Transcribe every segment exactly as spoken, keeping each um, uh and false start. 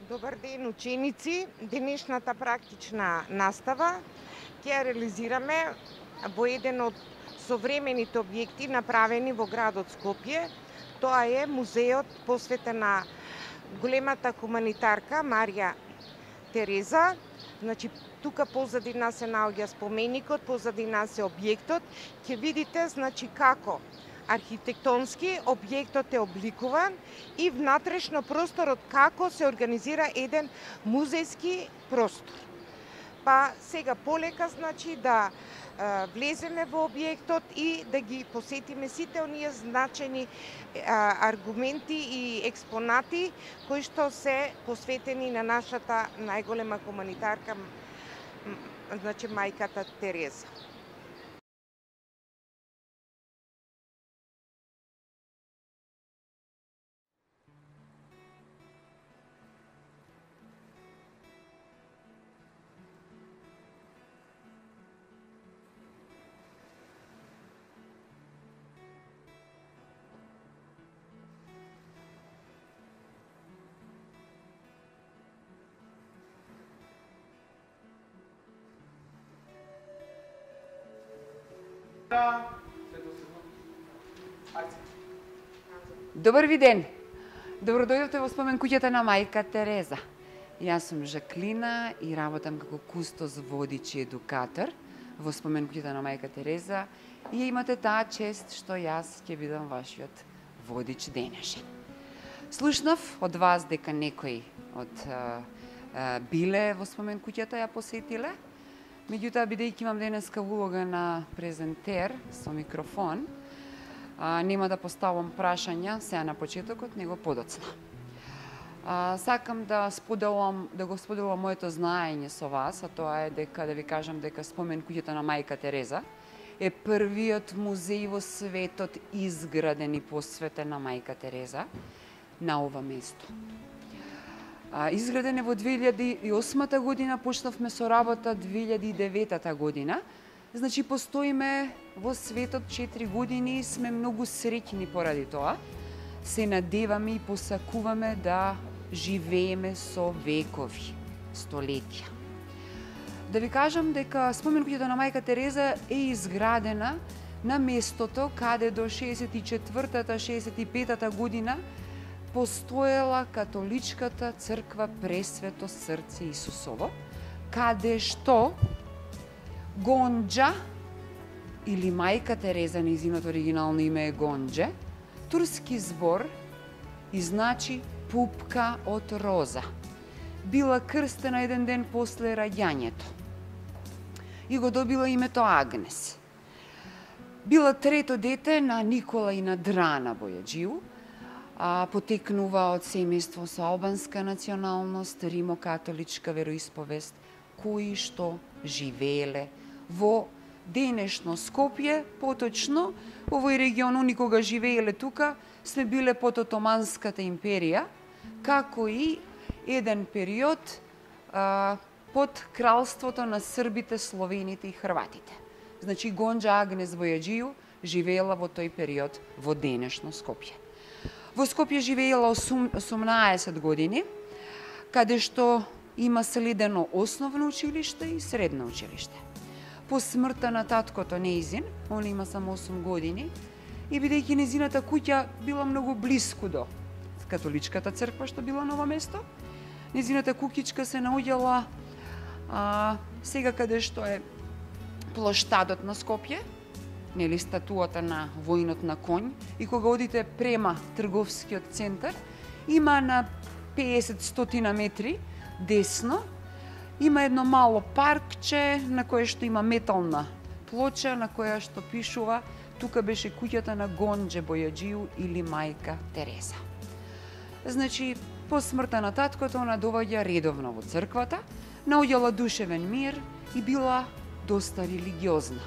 Добар ден, ученици. Денешната практична настава ќе ја реализираме во еден од современите објекти направени во градот Скопје. Тоа е музеот посветен на големата хуманитарка Марија Тереза. Значи, тука позади нас се наоѓа споменикот, позади нас е објектот. Ќе видите, значи, како архитектонски објектот е обликуван и внатрешно просторот како се организира еден музејски простор. Па сега полека, значи, да е, влеземе во објектот и да ги посетиме сите оние значени е, аргументи и експонати кои што се посветени на нашата најголема хуманитарка, значи мајката Тереза. Добар ви ден! Добро дојдовте во спомен куќата на мајка Тереза. Јас сум Жаклина и работам како кустос, водич и едукатор во спомен куќата на мајка Тереза и имате таа чест што јас ќе бидам вашиот водич денешен. Слушнав од вас дека некои од а, а, биле во спомен куќата, ја посетиле. Меѓутоа, бидејќи имам денеска улога на презентер со микрофон, а, нема да поставам прашања сега на почетокот, него подоцна. А, сакам да споделам, да го споделам моето знаење со вас, а тоа е дека да ви кажам дека спомен куќата на мајка Тереза е првиот музеј во светот изграден и посветен на мајка Тереза на ова место. А, изграден е во две илјади и осма година, почнавме со работа две илјади и девета година. Значи, постоиме во светот четири години и сме многу среќни поради тоа. Се надеваме и посакуваме да живееме со векови, столетија. Да ви кажам дека спомен куќата на мајка Тереза е изградена на местото каде до шеесет и четвртата шеесет и петата година постоела католичката црква Пресвето срце Исусово, каде што Гонџа, или мајка Тереза, нејзиното оригинално име е Гонџе, турски збор и значи пупка од роза. Била крстена еден ден после раѓањето и го добила името Агнес. Била трето дете на Никола и на Драна Бојаджију, а потекнува од семејство со албанска националност, римокатоличка вероисповест, кои што живееле во денешно Скопје, поточно овој регион, никога живееле тука, сме биле под Отоманската империја, како и еден период а, под кралството на србите, словените и хрватите. Значи, Гонџа Агнес Бојаджију живеела во тој период во денешно Скопје. Во Скопје живеела осумнаесет години, каде што има следено основно училиште и средно училиште. По смртта на таткото нејзин, он има само осум години, и бидејќи нејзината куќа била многу блиску до католичката црква што била на ова место, нејзината куќичка се наоѓала а, сега каде што е плоштадот на Скопје, нели статуата на војнот на конј, и кога одите према трговскиот центар, има на пеесет до сто метри десно, има едно мало паркче на кое што има метална плоча на која што пишува тука беше куќата на Гонџе Бојаджију или мајка Тереза. Значи, по смртта на таткото она доаѓа редовно во црквата, наоѓала душевен мир и била доста религиозна.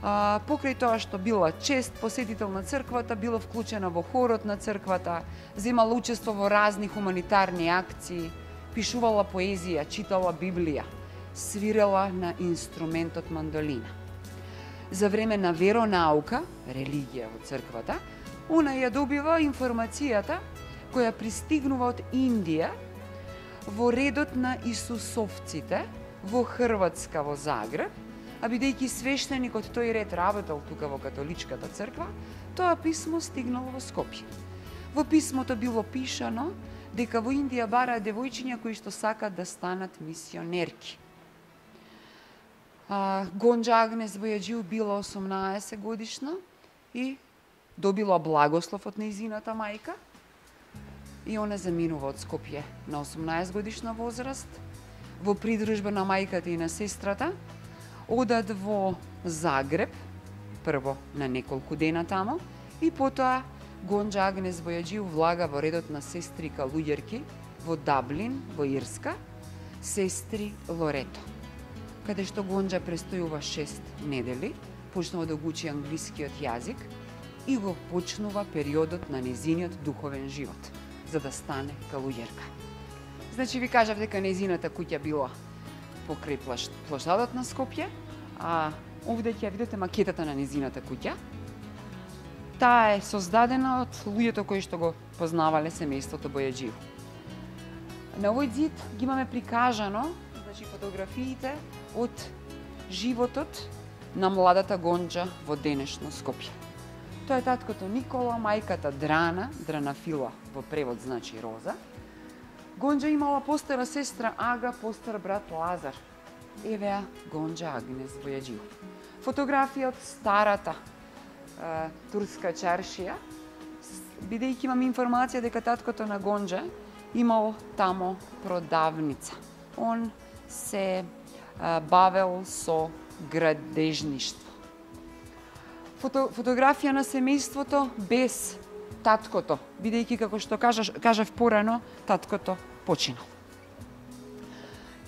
А, покрај тоа што била чест посетител на црквата, била вклучена во хорот на црквата, земала учество во разни хуманитарни акции, пишувала поезија, читала Библија, свирела на инструментот мандолина. За време на веронаука, религија во црквата, она ја добива информацијата која пристигнува од Индија, во редот на Исусовците во Хрватска, во Загреб, а бидејќи свештеникот тој ред работел тука во католичката црква, тоа писмо стигнало во Скопје. Во писмото било пишано дека во Индија бараат девојчиња кои што сакат да станат мисионерки. А, Гонџа Агнес Бојаџиу била осумнаесет годишна и добила благослов од нејзината мајка и она заминува од Скопје на осумнаесет годишна возраст. Во придружба на мајката и на сестрата одат во Загреб, прво на неколку дена тамо, и потоа Гонџа Агнес Бојаџиу влага во редот на сестри калуѓерки во Даблин, во Ирска, сестри Лорето, каде што Гонџа престојува шест недели, почнува да го учи англискиот јазик и го почнува периодот на незиниот духовен живот, за да стане калуѓерка. Значи, ви кажав дека незината куќа била покрај плоштадот на Скопје, а овде ќе видите макетата на незината куќа. Таа е создадена од луѓето кои што го познавале семејството Бојаџиу. На овој ѕид ги имаме прикажано, значи, фотографиите од животот на младата Гонџа во денешно Скопје. Тоа е таткото Никола, мајката Драна, Дранафила во превод значи Роза. Гонџа имала постара сестра Ага, постар брат Лазар. Евеа Гонџа Агнес Бојаџиу. Фотографија од старата е, турска чаршија, бидејќи имам информација дека таткото на Гонџа имал тамо продавница. Он се е, бавел со градежништво. Фото, фотографија на семејството без таткото, бидејќи, како што кажаш, кажав порано, таткото починал.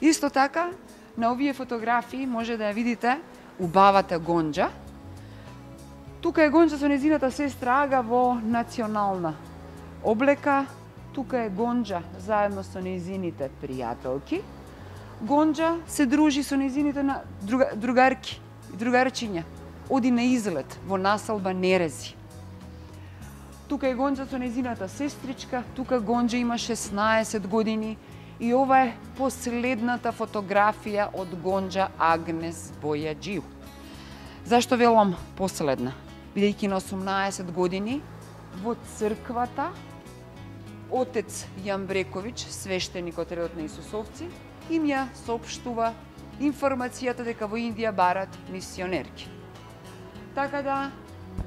Исто така, на овие фотографии може да ја видите убавата Гонџа. Тука е Гонџа со незината сестра Ага во национална облека. Тука е Гонџа заедно со незините пријателки. Гонџа се дружи со незините на друга, другарки и другарчиња. Оди на излет во населба Нерези. Тука е Гонџа со незината сестричка, тука Гонџа има шеснаесет години и ова е последната фотографија од Гонџа Агнес Бојаџиу. Зашто велам последна? Бидејќи на осумнаесет години во црквата отец Јамбрековиќ, свештеник од редот на Исусовци, им ја соопштува информацијата дека во Индија барат мисионерки. Така да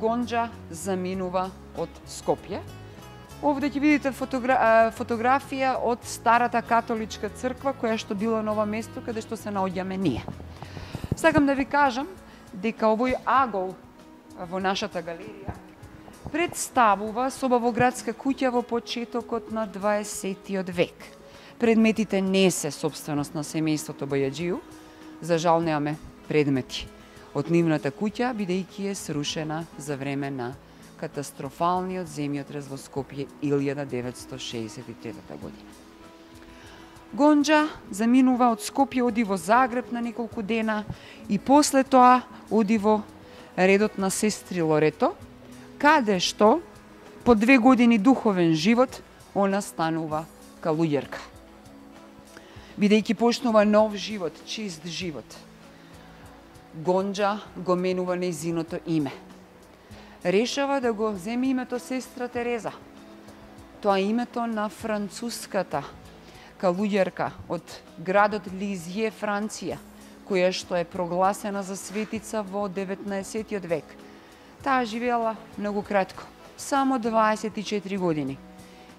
Гонџа заминува од Скопје. Овде ќе видите фотогра... фотографија од старата католичка црква која што била на ова место каде што се наоѓаме ние. Сакам да ви кажам дека овој агол во нашата галерија представува соба во градска куќа во почетокот на дваесеттиот век. Предметите не се собственост на семејството Бојаџиу, за жал немаме предмети од нивната куќа, бидејќи е срушена за време на катастрофалниот земјотрес во Скопје илјада деветстотини шеесет и трета година. Гонџа заминува од Скопје, оди во Загреб на неколку дена и после тоа оди во редот на сестри Лорето, каде што по две години духовен живот она станува калуѓерка. Бидејќи почнува нов живот, чист живот, Гонџа го менува нејзиното име. Решава да го земе името сестра Тереза. Тоа е името на француската калуѓерка од градот Лизје, Франција, која што е прогласена за светица во деветнаесеттиот век. Таа живеела многу кратко, само дваесет и четири години.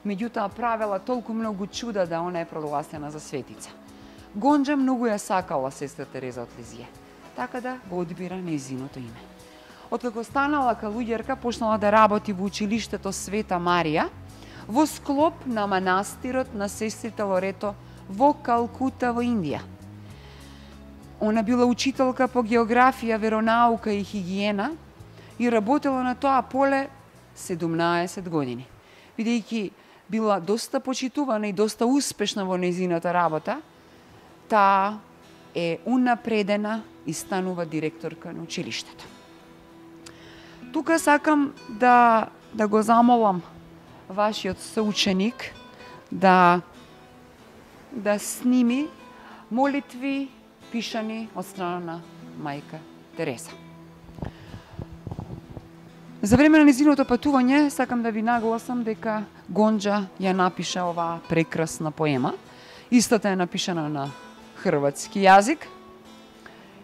Меѓутоа правела толку многу чуда да она е прогласена за светица. Гонџа многу ја сакала сестра Тереза од Лизје, така да го одбира нејзиното име. Откако станала калуѓерка, почнала да работи во училиштето Света Марија, во склоп на манастирот на сестрите Лорето во Калкута во Индија. Она била учителка по географија, веронаука и хигиена и работела на тоа поле седумнаесет години. Бидејќи била доста почитувана и доста успешна во нејзината работа, таа е унапредена и станува директорка на училиштето. Тука сакам да, да го замолам вашиот соученик да да сними молитви пишани од страна на мајка Тереза. За време на незиното патување сакам да ви нагласам дека Гонџа ја напиша оваа прекрасна поема. Истата е напишана на хрватски јазик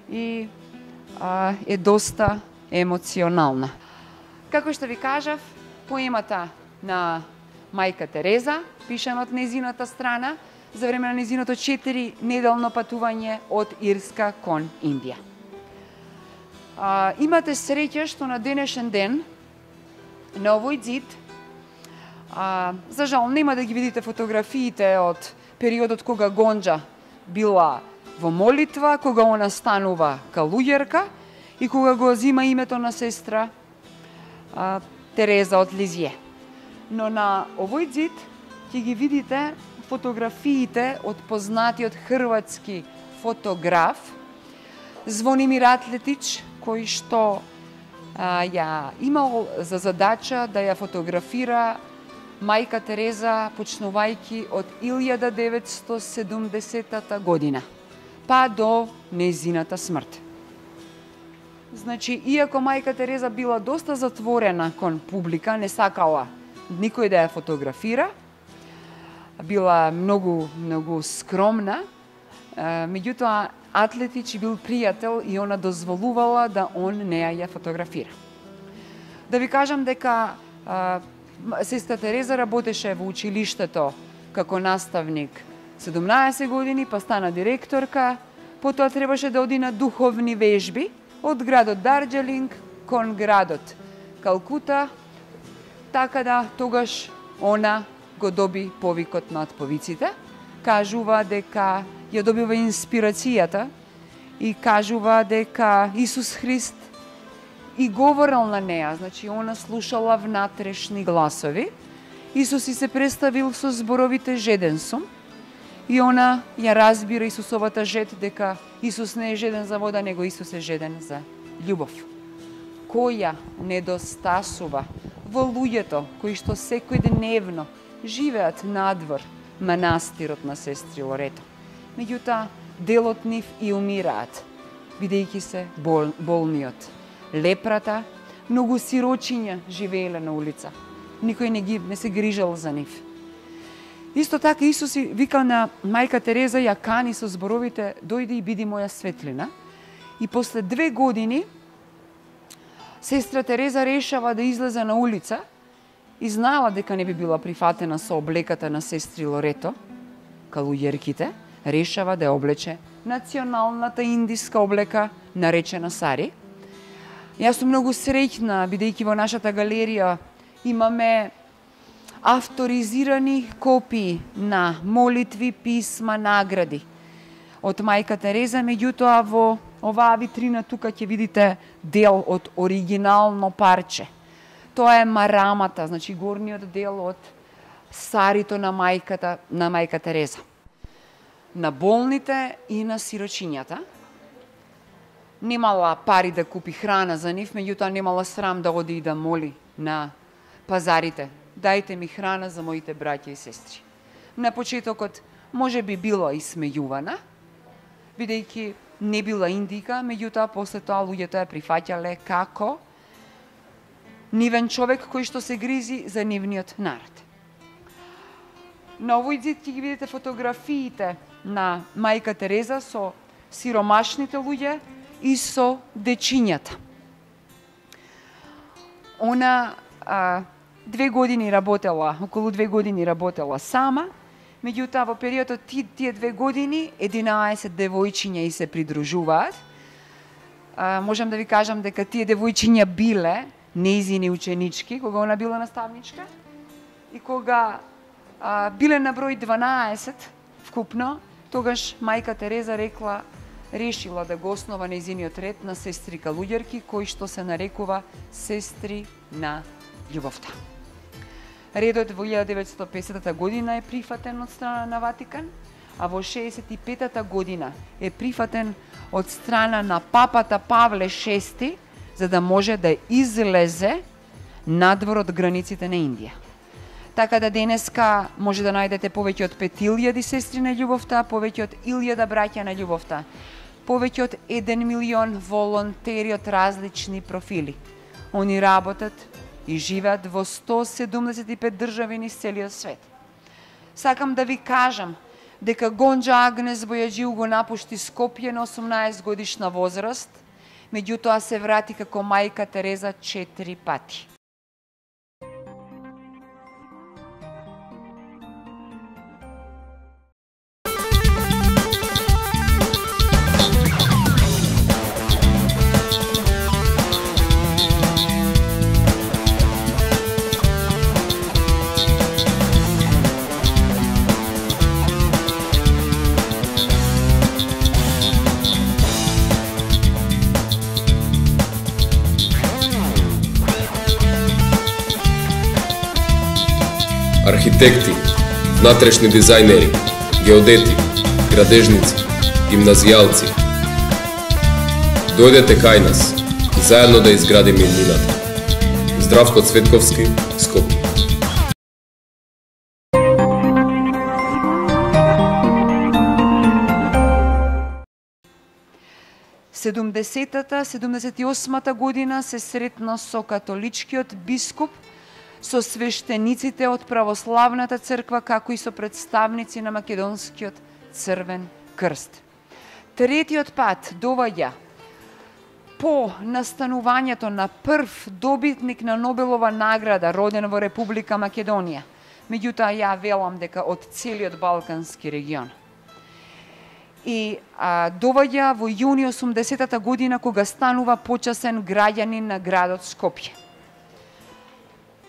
и а, е доста емоционална. Како што ви кажав, поемата на мајка Тереза, пишана од незината страна, за време на незиното четири неделно патување од Ирска кон Индија. А, имате среќа што на денешен ден на овој ѕид, а, за жал нема да ги видите фотографиите од периодот кога Гонџа била во молитва, кога она станува калуѓерка и кога го зима името на сестра а, Тереза од Лизје. Но на овој ѕид ќе ги видите фотографиите од познатиот хрватски фотограф Звонимир Атлетич, кој што а, ја имал за задача да ја фотографира мајка Тереза почнувајќи од илјада деветстотини и седумдесетата година, па до незината смрт. Значи, иако мајка Тереза била доста затворена кон публика, не сакала никој да ја фотографира, била многу, многу скромна, меѓутоа Атлетич бил пријател и она дозволувала да он неа ја фотографира. Да ви кажам дека а, сестра Тереза работеше во училиштето како наставник седумнаесет години, па стана директорка, потоа требаше да оди на духовни вежби од градот Дарџелинг кон градот Калкута, така да тогаш она го доби повикот над повиците, кажува дека ја добива инспирацијата и кажува дека Исус Христ и говорел на неа, значи она слушала внатрешни гласови. Исус и се представил со зборовите жеден сум и она ја разбира Исусовата жед дека Исус не е жеден за вода, него Исус е жеден за љубов, која недостасува во луѓето кои што секојдневно живеат надвор манастирот на сестри Лорето. Меѓутоа, делот нив и умираат, бидејќи се бол, болни од лепрата, многу сирочиња живееле на улица. Никој не ги не се грижал за нив. Исто така Исус вика на мајка Тереза, ја кани со зборовите: дојди и биди моја светлина. И после две години сестра Тереза решава да излезе на улица и знаела дека не би била прифатена со облеката на сестри Лорето, калуѓерките, решава да ја облече националната индиска облека, наречена сари. Јас сум многу среќна, бидејќи во нашата галерија имаме авторизирани копии на молитви, писма, награди од мајка Тереза, меѓутоа во оваа витрина тука ќе видите дел од оригинално парче. Тоа е марамата, значи горниот дел од сарито на мајката, на мајка Тереза. На болните и на сирочињата. Немала пари да купи храна за нив, меѓутоа немала срам да оди и да моли на пазарите: дајте ми храна за моите браќа и сестри. На почетокот може би била исмејувана, бидејќи не била индика, меѓутоа после тоа луѓето ја прифаќале како нивен човек кој што се гризи за нивниот народ. На овој ѕид ќе ги видите фотографиите на мајка Тереза со сиромашните луѓе и со дечињата. Она а, две години работела, околу две години работела сама, меѓутоа во периодот ти, тие две години единаесет девојчиња и се придружуваат. А, можам да ви кажам дека тие девојчиња биле нејзини ученички кога она била наставничка и кога а, биле на број дванаесет вкупно, тогаш мајка Тереза рекла, решила да го основа нејзиниот ред на сестри калуѓерки, кој што се нарекува Сестри на љубовта. Редот во илјада деветстотини и песетата година е прифатен од страна на Ватикан, а во шеесет и петата година е прифатен од страна на папата Павле шести, за да може да излезе надвор од границите на Индија. Така да денеска може да најдете повеќе од пет илјади сестри на љубовта, повеќе од илјада браќа на љубовта, повеќе од еден милион волонтери од различни профили. Они работат и живеат во сто седумдесет и пет држави низ целиот свет. Сакам да ви кажам дека Гонџа Агнес Бојаџиу го напушти Скопје на осумнаесет годишна возраст, меѓутоа се врати како мајка Тереза четири пати. Архитекти, внатрешни дизајнери, геодети, градежници, гимназијалци. Дојдете кај нас, заедно да изградиме иднината. Здравко Цветковски, Скопје. седумдесетата седумдесет и осмата година се сретна со католичкиот бискуп, со свештениците од православната црква, како и со представници на македонскиот црвен крст. Третиот пат доаѓа по настанувањето на прв добитник на Нобелова награда, роден во Република Македонија. Меѓутоа, ја велам дека од целиот Балкански регион. И а, доаѓа во јуни осумдесетата година, кога станува почасен граѓанин на градот Скопје.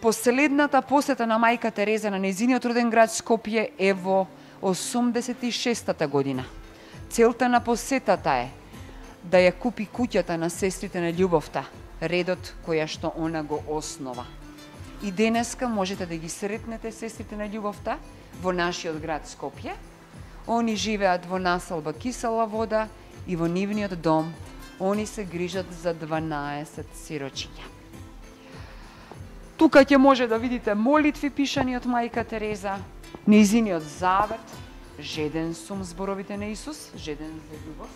Последната посета на мајка Тереза на нејзиниот роден град Скопје е во осумдесет и шестата година. Целта на посетата е да ја купи куќата на сестрите на љубовта, редот која што она го основа. И денеска можете да ги сретнете сестрите на љубовта во нашиот град Скопје. Они живеат во населба Кисела вода и во нивниот дом они се грижат за дванаесет сирочиња. Тука ќе може да видите молитви пишани од мајка Тереза, нејзиниот завет, жеден сум зборовите на Исус, жеден за љубов.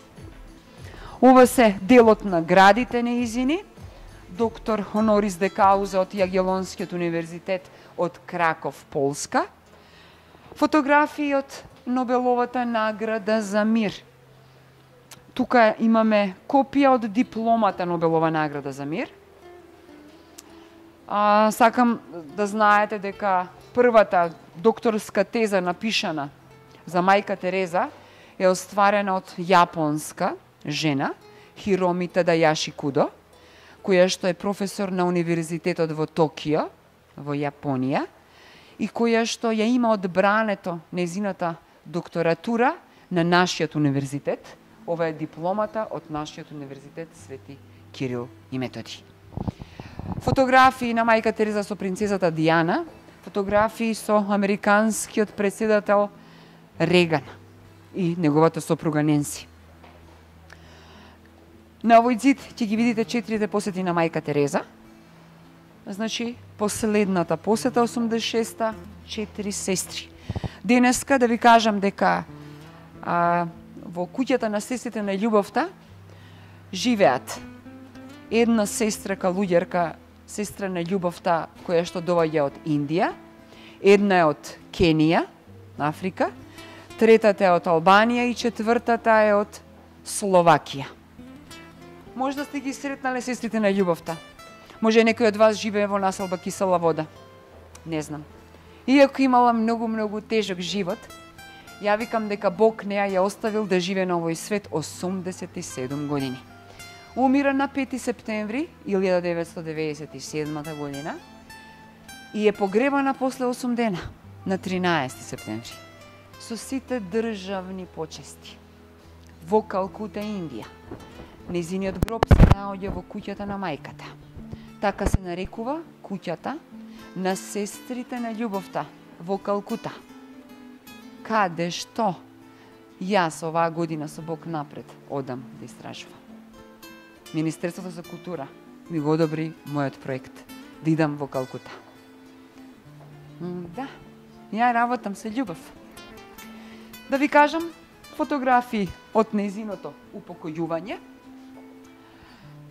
Ова се делот на градите нејзини, доктор Хонорис де Кауза од Јагелонскиот универзитет од Краков, Полска, фотографии од Нобеловата награда за мир. Тука имаме копија од дипломата Нобелова награда за мир. А, сакам да знаете дека првата докторска теза напишана за мајка Тереза е остварена од јапонска жена, Хироми Тадајаши Кудо, која што е професор на универзитетот во Токио, во Јапонија, и која што ја има одбрането нејзината докторатура на нашиот универзитет. Ова е дипломата од нашиот универзитет Свети Кирил и Методи. Фотографии на мајка Тереза со принцезата Диана, фотографии со американскиот председател Реган и неговата сопруга Ненси. На овој зид ќе ги видите четирите посети на мајка Тереза. Значи, последната посета осумдесет и шеста, четири сестри. Денеска да ви кажам дека а, во куќата на сестрите на љубовта живеат една сестра калуѓерка, сестра на љубовта, која што доаѓа од Индија, една е од Кенија, Африка, третата е од Албанија и четвртата е од Словакија. Може да сте ги сретнале сестрите на љубовта. Може некој од вас живее во населба Кисела вода. Не знам. Иако имала многу-многу тежок живот, ја викам дека Бог неа ја оставил да живее на овој свет осумдесет и седум години. Умира на пети септември илјада деветстотини деветдесет и седма година и е погребана после осум дена на тринаесети септември со сите државни почести во Калкута, Индија. Нејзиниот гроб се наоѓа во куќата на мајката. Така се нарекува куќата на сестрите на љубовта во Калкута. Каде што јас оваа година со Бог напред одам да истражувам. Министерството за култура ми го одобри мојот проект да идам во Калкута. Да, ја работам се љубов. Да ви кажам, фотографии од нејзиното упокојување.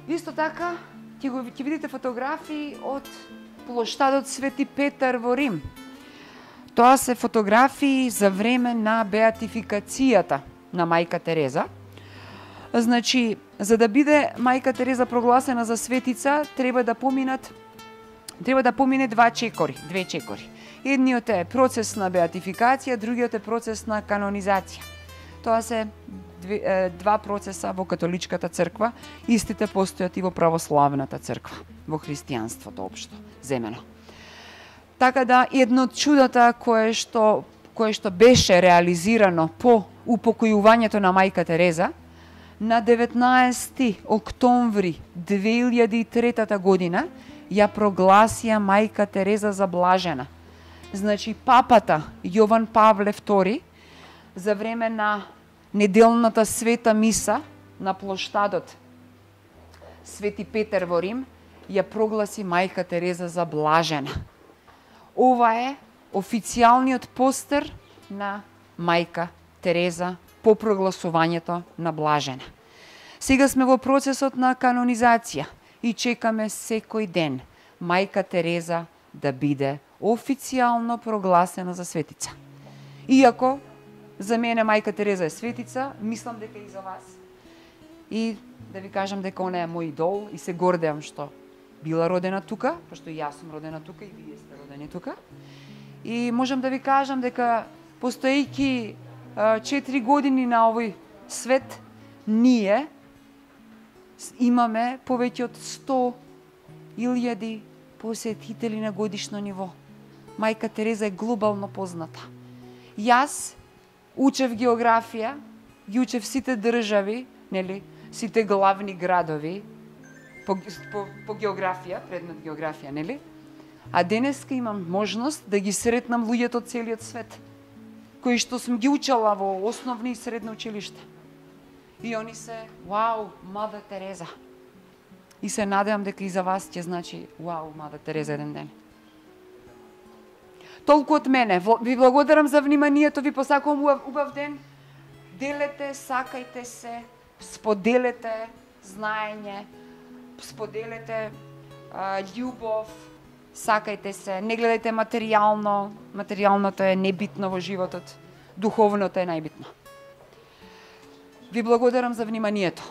Исто така, ќе го ќе видите фотографии од плоштадот Свети Петар во Рим. Тоа се фотографии за време на беатификацијата на мајка Тереза. Значи, за да биде мајка Тереза прогласена за светица, треба да поминат треба да помине два чекори, две чекори. Едниот е процес на беатификација, другиот е процес на канонизација. Тоа се две, два процеса во католичката црква, истите постојат и во православната црква, во христијанството општо земено. Така да едно од чудата кое што кое што беше реализирано по упокојувањето на мајка Тереза, на деветнаесети октомври две илјади и трета година ја прогласија мајка Тереза за блажена. Значи папата Јован Павле втори за време на неделната света миса на плоштадот Свети Петар во Рим ја прогласи мајка Тереза за блажена. Ова е официјалниот постер на мајка Тереза по прогласувањето на блажена. Сега сме во процесот на канонизација и чекаме секој ден мајка Тереза да биде официјално прогласена за светица. Иако за мене мајка Тереза е светица, мислам дека и за вас. И да ви кажам дека она е мој идол и се гордеам што била родена тука, пошто и јас сум родена тука и вие сте родени тука. И можам да ви кажам дека постоејќи четири години на овој свет, ние имаме повеќе од сто илјади посетители на годишно ниво. Мајка Тереза е глобално позната. Јас учев географија, ги учев сите држави, нели, сите главни градови по, по, по географија, предмет географија, нели? А денеска имам можност да ги сретнам луѓето од целиот свет, кои што сум ги учела во основни и средно училиште. И они се, вау, Мада Тереза. И се надевам дека и за вас ќе значи, вау, Мада Тереза еден ден. Толку од мене. Ви благодарам за вниманието, ви посакувам убав, убав ден. Делете, сакајте се, споделете знаење, споделете а, љубов, сакајте се, не гледајте материјално, материјалното е небитно во животот, духовното е најбитно. Ви благодарам за вниманието.